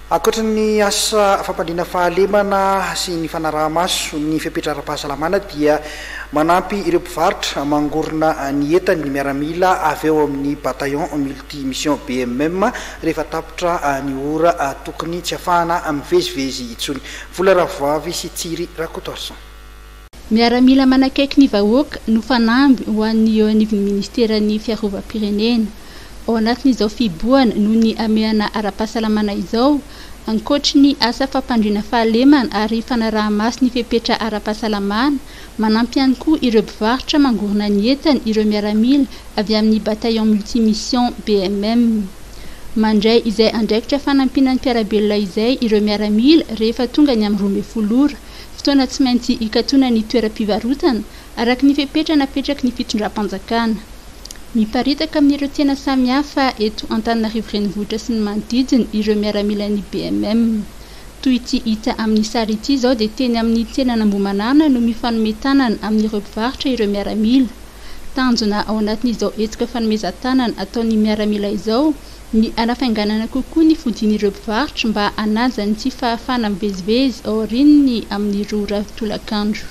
Ankoatry ny asa fampandriana fahalemana sy ny fanaraha-maso ny fepetra ara-pahasalamana dia manampy ireo mpivarotra mangorona ny entany ny miaramila avy ao amin'ny Bataillon Multi Mission BMM rehefa tapitra ny ora tokony tsy afahana mivezivezy intsony. Vola Ravoavy sy Tsiry Rakotoarison. Miaramila manakaiky ny vahoaka no fanamby ho an'ny eo anivon'ny ministeran'ny fiarovam-pirenena. Ao anatin'izao fihibohana noho ny hamehana ara-pahasalamana izao, ankoatry ny asa fampandriana fahalemana ary fanaraha-maso ny fepetra ara-pahasalamana, manampy ihany koa ireo mpivarotra mangorona ny entany ireo miaramila avy amin'ny Bataillon Multimission, BMM. Mandray izay andraikitra fanampiana ny mpiara-belona izay ireo miaramila rehefa tonga ny amin'ny 12 ora, fotoana tsy maintsy hikatona ny toeram-pivarotana, araka ny fepetra napetraky ny fitondram-panjakana. Miparitaka amin'ireo tsena samihafa eto Antananarivo Renivohitra sy ny manodidina ireo miaramilan'ny BMM. Toy ity hita amin'ny sary ity izao dia teny amin'ny tsenan'Ambohimanarina no mifanome tanana amin'ireo mpivarotra ireo miaramila. Tanjona ao anatin'izao hetsika fanomezan-tanana ataon'ny miaramila izao ny hanafainganana kokoa ny fodian'ireo mpivarotra mba hanaja ny tsy fahafahana mivezivezy aorian'ny amin'ny roa ora tolakandro.